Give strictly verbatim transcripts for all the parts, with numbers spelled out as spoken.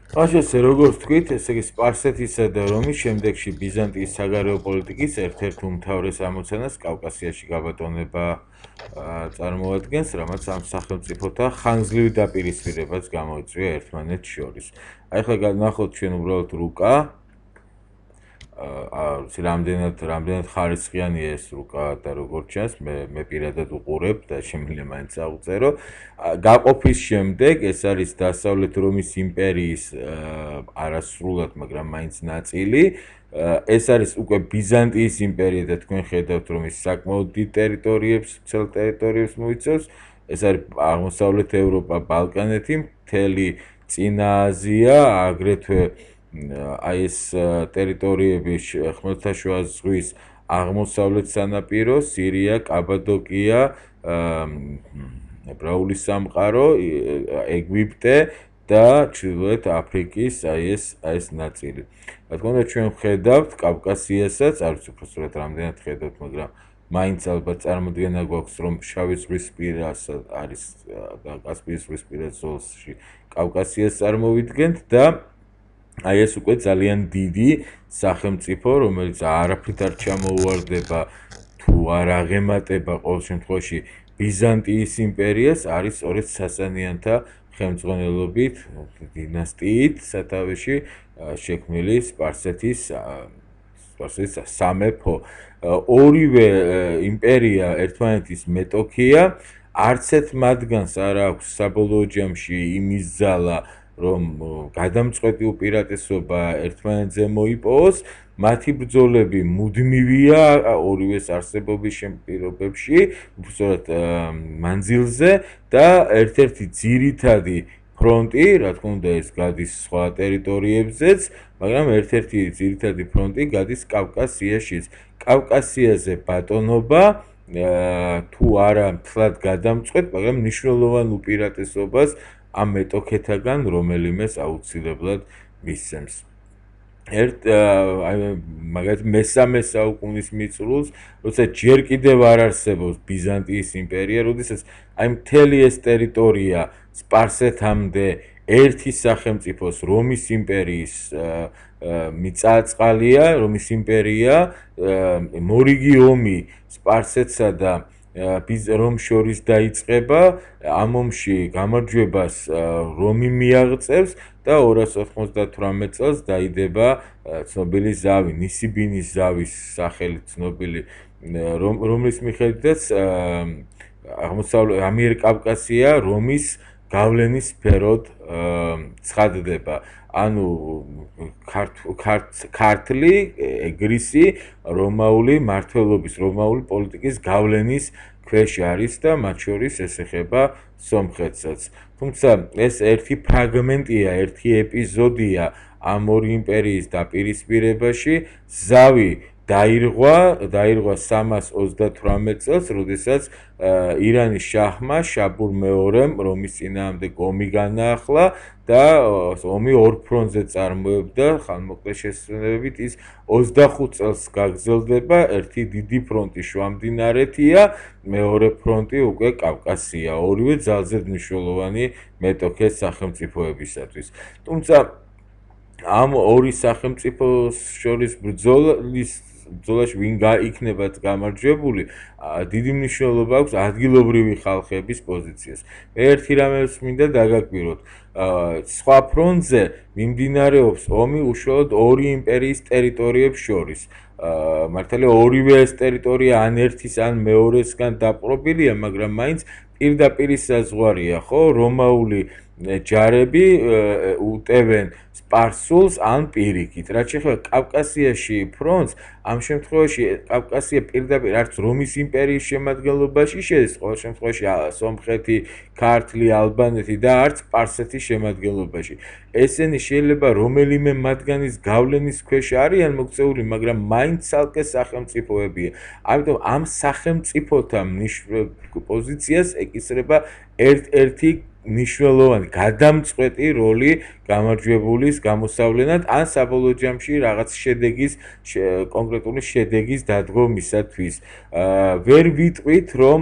ხაშესე როგორც თქვით, ესე იგი სპარსეთისა და რომის შემდეგში ბიზანტიის საგარეო პოლიტიკის ერთ-ერთ უმთავრეს ამოცანას კავკასიაში გაბატონება წარმოადგენს, რამაც ამ სახელმწიფოთა ხანგრძლივი დაპირისპირებაც გამოიწვია ერთმანეთს შორის. აი ახლა განახოთ ჩვენ უბრალოდ რუკა აა რამდენად რამდენად ხარისხიანია ეს რუკა და როგორც ჩანს მე მე პირადად უყურებ და შემიძლია მაინც აღწერო. გაყოფის შემდეგ ეს არის დასავლეთ რომის იმპერიის არასრულად, მაგრამ მაინც ნაწილი. ეს არის უკვე ბიზანტიის იმპერია და თქვენ ხედავთ რომ ის საკმაოდ დიდ ტერიტორიებს, ცელ ტერიტორიებს მოიცავს. ეს არის აღმოსავლეთ ევროპა, ბალკანეთი, მთელი წინა აზია, აგრეთვე აი ეს ტერიტორიები ხმელთაშუა ზღვის აღმოსავლეთ სანაპირო, სირია, კაბადოკია, ებრაული სამყარო, ეგვიპტე და ჩრდილოეთ აფრიკის აი ეს აი ეს ნაწილი. რა თქმა უნდა ჩვენ ვხედავთ კავკასიასაც, არ ვიცი უფრო სწორად რამდენად ხედავთ, მაგრამ მაინც ალბათ წარმოდგენა გვაქვს რომ შავი ზღვისპირას არის და კასპიის ზღვისპირას ზოლში კავკასიას წარმოვიდგენთ და აი ეს უკვე ძალიან დიდი სახელმწიფო, რომელიც არაფრით არ ჩამოუვარდება თუ არ აღემატება ყოველ შემთხვევაში ბიზანტიის იმპერიას, არის სწორედ სასანიანთა ხელმძღვანელობით დინასტიით სათავეში შექმნილი სპარსეთის სპარსეთის სამეფო. ორივე იმპერია ერთმანეთის მეტოქია, არც ერთ მათგანს არ აქვს საბოლოო ჯამში იმის ძალა რომ გადამწყვეტი უპირატესობა ერთმანეთზე მოიპოვოს, მათი ბრძოლები მუდმივია ორივეს არსებობის შემპირობებში, უბრალოდ მანძილზე და ერთ-ერთი ძირითადი ფრონტი, რა თქმა უნდა, ეს გადის სხვა ტერიტორიებზეც, მაგრამ ერთ-ერთი ძირითადი ფრონტი გადის კავკასიაშიც. კავკასიაზე ბატონობა თუ არა მთლად გადამწყვეტ, მაგრამ მნიშვნელოვან უპირატესობას ამ მეტოქეთაგან რომელიმეს აუცილებლად მისცემს. ერთ აი მაგათ მესამე საუკუნის მიწურულს, როცა ჯერ კიდევ არ არსებობს ბიზანტიის იმპერია, როდესაც აი მთელი ეს ტერიტორია სპარსეთამდე ერთი სახელმწიფოს რომის იმპერიის მიწა-წყალია, რომის იმპერია, მორიგი ომი სპარსეთსა და რომს შორის დაიწყება, ამ ომში გამარჯვებას რომი მიაღწევს და ორას ოთხმოცდათვრამეტ წელს დაიდება ცნობილი ზავი, ნისიბინის ზავის სახელით ცნობილი, რომლის მიხედვითაც აღმოსავლეთ ამიერკავკასია რომის გავლენის სფეროდ ცხადდება. ანუ ქართლი, ეგრისი, რომაული მმართველობის, რომაული პოლიტიკის გავლენის ქვეშ არის და მათ შორის ეს ეხება სომხეთსაც. თუმცა ეს ერთი ფრაგმენტია, ერთი ეპიზოდია ამ ორი იმპერიის დაპირისპირებაში. ზავი დაირღვა, დაირღვა სამას ოცდათვრამეტ წელს, როდესაც ირანის შაჰმა შაბურ მეორემ რომის წინააღმდეგ ომი განაახლა და ომი ორ ფრონტზე წარმოებდა, ხანმოკლე შესრულებით ის ოცდახუთ წელს გაგრძელდება, ერთი დიდი ფრონტი შუამდინარეთია, მეორე ფრონტი უკვე კავკასია, ორივე ძალზედ მნიშვნელოვანი მეტოქე სახელმწიფოებისათვის. თუმცა ამ ორი სახელმწიფოს შორის ბრძოლის ბრძოლაში ვინ იქნება გამარჯვებული, დიდი მნიშვნელობა აქვს ადგილობრივი ხალხების პოზიციას. მე ერთი რამეს მინდა დაგაკვიროთ, სხვა ფრონტზე მიმდინარეობს ომი უშუალოდ ორი იმპერიის ტერიტორიებს შორის. მართალია ორივე ეს ტერიტორია ან ერთის ან მეორესგან დაპყრობილია, მაგრამ მაინც პირდაპირ საზღვარია, ხო, რომაული ჯარები უტევენ სპარსულს ან პირიქით. რაც შეეხება კავკასიაში ფრონტს, ამ შემთხვევაში კავკასია პირდაპირ არც რომის იმპერიის შემადგენლობაში შედის, ყოველ შემთხვევაში სომხეთი, ქართლი, ალბანეთი და არც სპარსეთის შემადგენლობაში. ესენი შეიძლება რომელიმე მათგანის გავლენის ქვეშ არიან მოქცეული, მაგრამ მაინც ცალკე სახელმწიფოებია. ამიტომ ამ სახელმწიფოთა პოზიციას ეკისრება ერთ-ერთი მნიშვნელოვანი გადამწყვეტი როლი გამარჯვებულის გამოსავლენად ან საბოლოო ჯამში რაღაც შედეგის კონკრეტული შედეგის დადგომისათვის. ვერ ვიტყვით რომ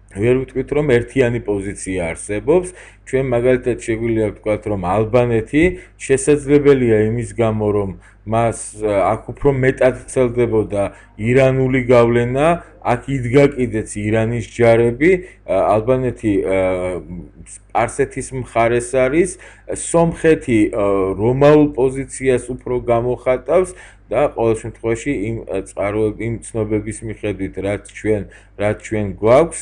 ვერ ვიტყვით რომ ერთიანი პოზიცია არსებობს, ჩვენ მაგალითად შეგვიძლია ვთქვათ, რომ ალბანეთი შესაძლებელია იმის გამო, რომ მას აქ უფრო მეტად ვრცელდებოდა ირანული გავლენა, აქ იდგა კიდეც ირანის ჯარები, ალბანეთი სპარსეთის მხარეს არის, სომხეთი რომაულ პოზიციას უფრო გამოხატავს და ყოველ შემთხვევაში იმ წყაროების იმ ცნობების მიხედვით, რაც ჩვენ რაც ჩვენ გვაქვს,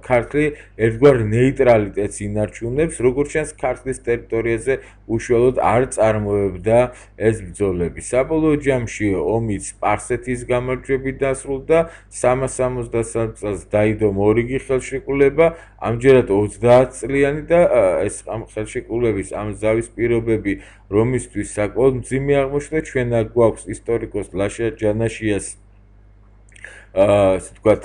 ქართლი ერთგვარ ნეიტრალიტეტს ინარჩუნებს, როგორც ჩანს, ქართლის ტერიტორიაზე უშუალოდ არ წარმოებდა ეს ბრძოლები. საბოლოო ჯამში ომი სპარსეთის გამარჯვებით დასრულდა, სამას სამოცდასამ წელს დაიდო მორიგი ხელშეკრულება, ამჯერად ოცდაათ წლიანი და ეს ამ ხელშეკრულების ამ ზავის პირობები რომისთვის საკმაოდ მძიმე აღმოჩნდა. ჩვენ აქ გვაქვს ისტორიკოს ლაშა ჯანაშიას ასე ვთქვათ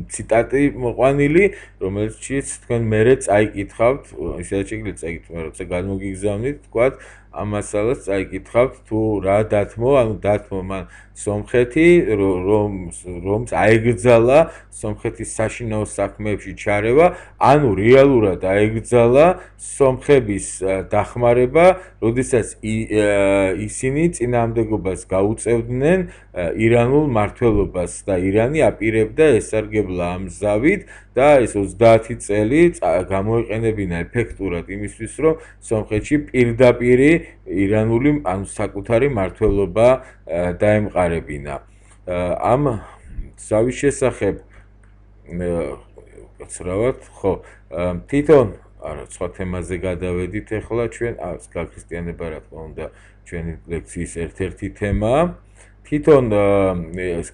ციტატი მოყვანილი, რომელშიც თქვენ მერე წაიკითხავთ, ისედაც შეგიძლიათ წაიკითხოთ, როცა გადმოგიგზავნით, ვთქვათ, ამ მასალას წაიკითხავთ, თუ რა დათმო, ანუ დათმო მან სომხეთი, რომ რომს აეგრძალა სომხეთის საშინაო საქმეებში ჩარევა, ანუ რეალურად აეგრძალა სომხების დახმარება, როდესაც ისინი წინააღმდეგობას გაუწევდნენ ირანულ მმართველობას და ირანი აპირებდა ესარგებლა ამ ზავით და ეს ოცდაათი წელი გამოიყენებინა ეფექტურად იმისთვის, რომ სომხეთში პირდაპირ ირანული ანუ საკუთარი მმართველობა დაემყარებინა. ამ ზავის შესახებ გაცრავად, ხო, თვითონ არა, სხვა თემაზე გადავედით ახლა ჩვენ, გაქრისტიანება რა თქმა უნდა ჩვენი ლექციის ერთ-ერთი თემაა. თვითონ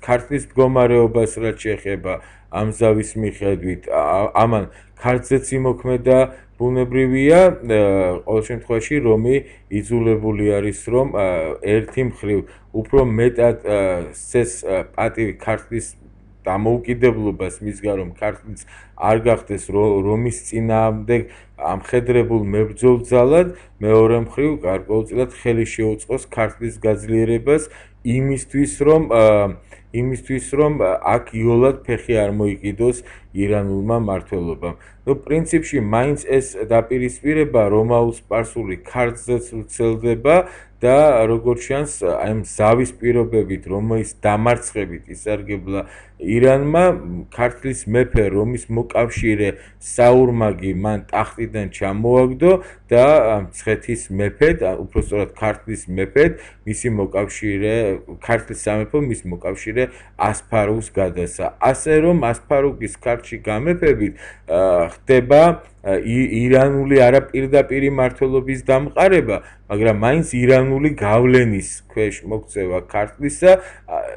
ქართლის მდგომარეობას რაც შეეხება ამ ზავის მიხედვით, ამან ქართლზეც იმოქმედა ბუნებრივია, ყოველ შემთხვევაში რომი იძულებული არის, რომ ერთი მხრივ უფრო მეტად ეს პატივი ქართლის დამოუკიდებლობას მისგან, რომ ქართლიც არ გახდეს რომის წინააღმდეგ ამხედრებულ მებრძოლ ძალად, მეორე მხრივ გარკვეულწილად ხელი შეუწყოს ქართლის გაძლიერებას იმისთვის, რომ იმისთვის, რომ აქ იოლად ფეხი არ მოიკიდოს ირანულმა მმართველობამ. ნუ პრინციპში მაინც ეს დაპირისპირება რომაულ-სპარსული ქართლზეც ვრცელდება და როგორც ჩანს, აი ამ ზავის პირობებით, რომის დამარცხებით ისარგებლა ირანმა, ქართლის მეფე რომის მოკავშირე საურმაგი მან ტახტიდან ჩამოაგდო და მცხეთის მეფედ, უпростоრად ქართლის მეფედ, მისი მოკავშირე, ქართლის სამეფო მის მოკავშირე ასფარუს გადასცა. ასე რომ ასფარუგის ქართლში გამეფებით ხდება ირანული არაპირდაპირი მმართველობის დამყარება, მაგრამ მაინც ირანული გავლენის ქვეშ მოქცევა ქართლისა,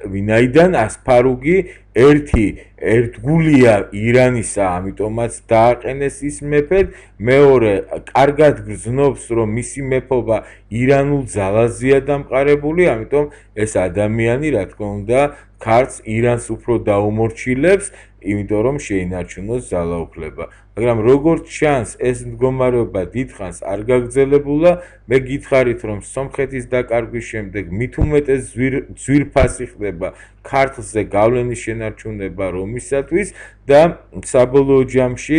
ვინაიდან ასფარუგი ერთი ერთგულია ირანისა, ამიტომაც დააყენეს ის მეფედ, მეორე კარგად გრძნობს, რომ მისი მეფობა ირანულ ძალაზეა დამყარებული, ამიტომ ეს ადამიანი, რა თქმა უნდა, ქართლს ირანს უფრო დაუმორჩილებს, იმიტომ რომ შეინარჩუნოს ძალაუფლება. მაგრამ როგორც ჩანს, ეს მდგომარეობა დიდხანს არ გაგრძელებულა, მე გითხარით, რომ სომხეთის დაკარგვის შემდეგ მით უმეტეს ძვირფასი ხდება ქართლზე გავლენის შენარჩუნება რომისათვის და საბოლოო ჯამში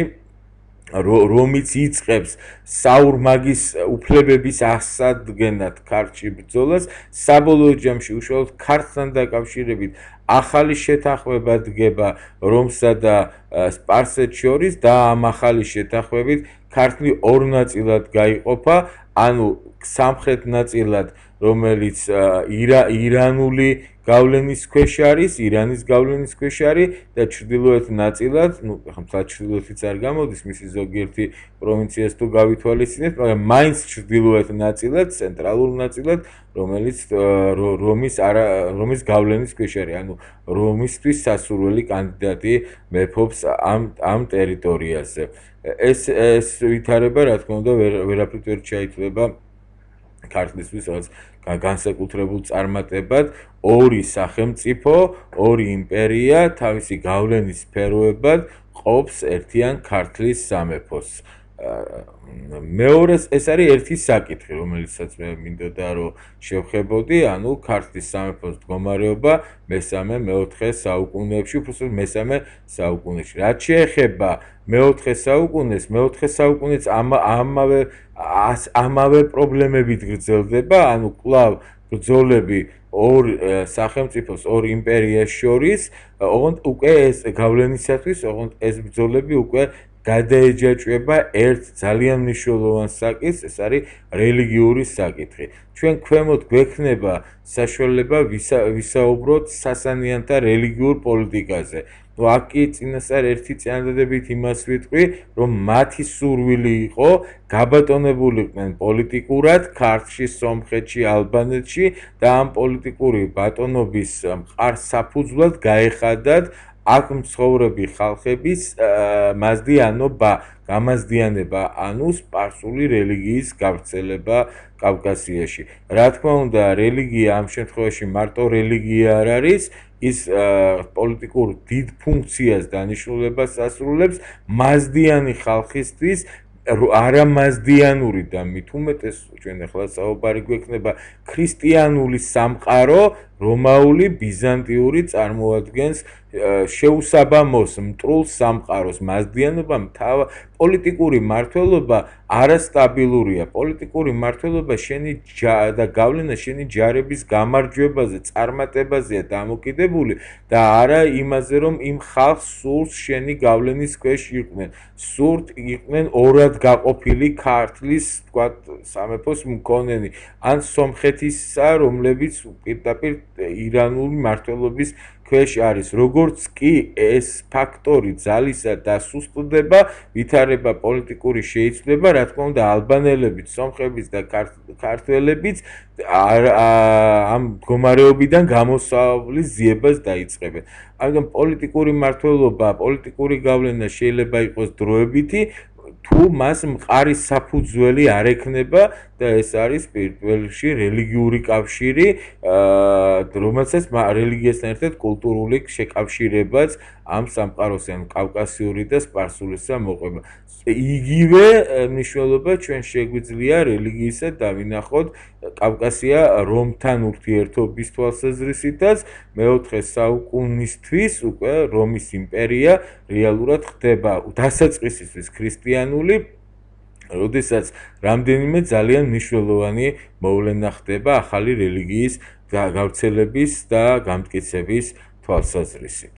რომიც იწყებს საურმაგის უფლებების ასადგენად ქართლში ბრძოლას, საბოლოო ჯამში უშუალოდ ქართლთან დაკავშირებით ახალი შეთანხმება დგება რომსა და სპარსეთს შორის და ამ ახალი შეთანხმებით ქართლი ორ ნაწილად გაიყოფა, ანუ სამხრეთ ნაწილად, რომელიც ირანული გავლენის ქვეშ არის, ირანის გავლენის ქვეშ არის და ჩრდილოეთ ნაწილად, ну, ხა ჩრდილოეთიც არ გამოდის მისი ზოგიერთი პროვინციას თუ გავითვალისწინებთ, მაგრამ მაინც ჩრდილოეთ ნაწილად, ცენტრალურ ნაწილად, რომელიც რომის არა რომის გავლენის ქვეშ არის, ანუ რომისთვის სასურველი კანდიდატი მეფობს ამ ამ ტერიტორიაზე. ეს ეს ვითარება, რა თქმა უნდა, ვერაფრით ვერ ჩაითვლება ქართლისთვის რაღაც განსაკუთრებულ წარმატებად, ორი სახელმწიფო, ორი იმპერია თავისი გავლენის სფეროებად ყოფს ერთიან ქართლის სამეფოს. მეორე ეს არის ერთი საკითხი, რომელიცაც მე მინდოდა რომ შევხებოდი, ანუ ქართლის სამეფოს მდგომარეობა მესამე მეოთხე საუკუნეებში, უბრალოდ მესამე საუკუნეში. რაც შეეხება მეოთხე საუკუნეს, მეოთხე საუკუნეც ამავე ამავე პრობლემებით გრძელდება, ანუ კვლავ ბრძოლები ორ სახელმწიფოს, ორ იმპერიას შორის, ოღონდ უკვე ეს გავლენისათვის, ოღონდ ეს ბრძოლები უკვე გადაეჯაჭვება ერთ ძალიან მნიშვნელოვან საკითხს, ეს არის რელიგიური საკითხი. ჩვენ ქვემოთ გვექნება საშუალება ვისაუბროთ სასანიანთა რელიგიურ პოლიტიკაზე. ნუ აქ კი წინასწარ ერთი წინადადებით იმას ვიტყვი, რომ მათი სურვილი იყო გაბატონებულიყვნენ პოლიტიკურად ქართლში, სომხეთში, ალბანეთში და ამ პოლიტიკური ბატონობის მყარ საფუძვლად გაეხადათ აქ მცხოვრები ხალხების მაზდიანობა, გამაზდიანება, ანუ სპარსული რელიგიის გავრცელება კავკასიაში. რა თქმა უნდა, რელიგია ამ შემთხვევაში მარტო რელიგია არ არის, ის პოლიტიკურ დიდ ფუნქციას დანიშნულებას ასრულებს მაზდიანი ხალხისთვის, არამაზდიანური და მით უმეტეს ჩვენ ახლა საუბარი გვექნება ქრისტიანული სამყარო, რომაული, ბიზანტიური წარმოადგენს შეუსაბამოს მტრულ სამყაროს. მაზდიანობა პოლიტიკური მმართველობა არასტაბილურია. პოლიტიკური მმართველობა შენი და გავლენა შენი ჯარების გამარჯვებაზე, წარმატებაზეა დამოკიდებული და არა იმაზე, რომ იმ ხალხს სურს შენი გავლენის ქვეშ იყვნენ. სურთ იყვნენ ორად გაყოფილი ქართლის, თქვათ, სამეფოს მქონენი, ან სომხეთისა, რომლებიც პირდაპირ ირანული მმართველობის ქვეშ არის. როგორც კი ეს ფაქტორი ძალისა დასუსტდება, ვითარება პოლიტიკური შეიცვლება, რა თქმა უნდა, ალბანელებიც, სომხებიც და ქართველებიც ამ მდგომარეობიდან გამოსავლის ძიებას დაიწყებენ. ამიტომ პოლიტიკური მმართველობა, პოლიტიკური გავლენა შეიძლება იყოს დროებითი, თუ მას მყარი საფუძველი არ ექნება და ეს არის პირველში რელიგიური კავშირი, რომელსაც რელიგიასთან ერთად კულტურული შეკავშირებაც ამ სამყაროს, ანუ კავკასიური და სპარსულისა მოყვება. იგივე მნიშვნელობა ჩვენ შეგვიძლია რელიგიისა დავინახოთ კავკასია რომთან ურთიერთობის თვალსაზრისითაც, მეოთხე საუკუნისთვის უკვე რომის იმპერია რეალურად ხდება დასაწყისისთვის ქრისტიანული, როდესაც რამდენიმე ძალიან მნიშვნელოვანი მოვლენა ხდება ახალი რელიგიის გავრცელების და გამტკიცების თვალსაზრისით.